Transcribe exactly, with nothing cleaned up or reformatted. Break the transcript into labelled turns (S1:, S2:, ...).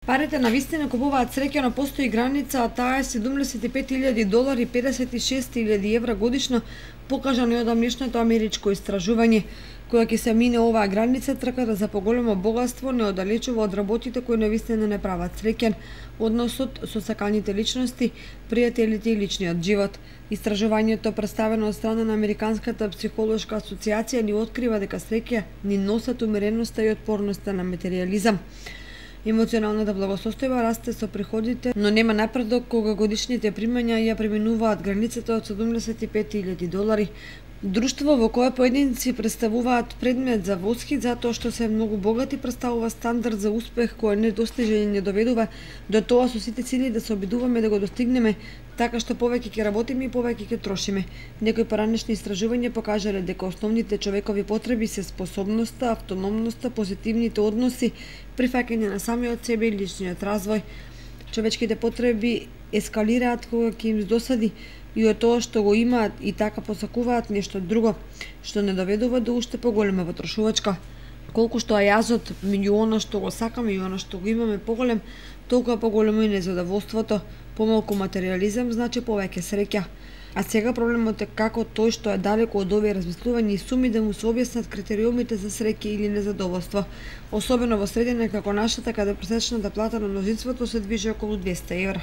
S1: Парите навистина купуваат среќа, но постои граница, а таа е седумдесет и пет илјади долари, педесет и шест илјади евра годишно, покажано од амнешното америчко истражување. Кога ќе се мине оваа граница, трката за поголемо богатство не оддалечува од работите кои навистина не прават среќен, односот со саканите личности, пријателите и личниот живот. Истражувањето, представено од страна на Американската психолошка асоциација, ни открива дека среќа ни носат умереноста и отпорноста на материјализам. Емоционалната благосостојба расте со приходите, но нема напредок кога годишните примања ја преминуваат границата од седумдесет и пет илјади долари. Друштво во кое поединци представуваат предмет за восхит затоа што се многу богати представува стандард за успех кој недостижен и не доведува до тоа со сите сили да се обидуваме да го достигнеме, така што повеќе ќе работиме и повеќе ќе трошиме. Некои поранешни истражувања покажале дека основните човекови потреби се способноста, автономноста, позитивните односи, прифаќање на самиот себе и личниот развој. Човечките потреби ескалираат кога ќе им досади и од тоа што го имаат и така посакуваат нешто друго, што не доведува до уште поголема потрошувачка. Колку што е јазот меѓу она што го сакаме и она што го имаме поголем, толку поголемо и незадоволството. Помалку материјализам значи повеќе среќа. А сега проблемот е како тој што е далеко од овие размислувања и суми да му се објаснат критериумите за среќа или незадоволство, особено во средина како нашата, каде пресечната плата на мнозинството се движи околу двесте евра.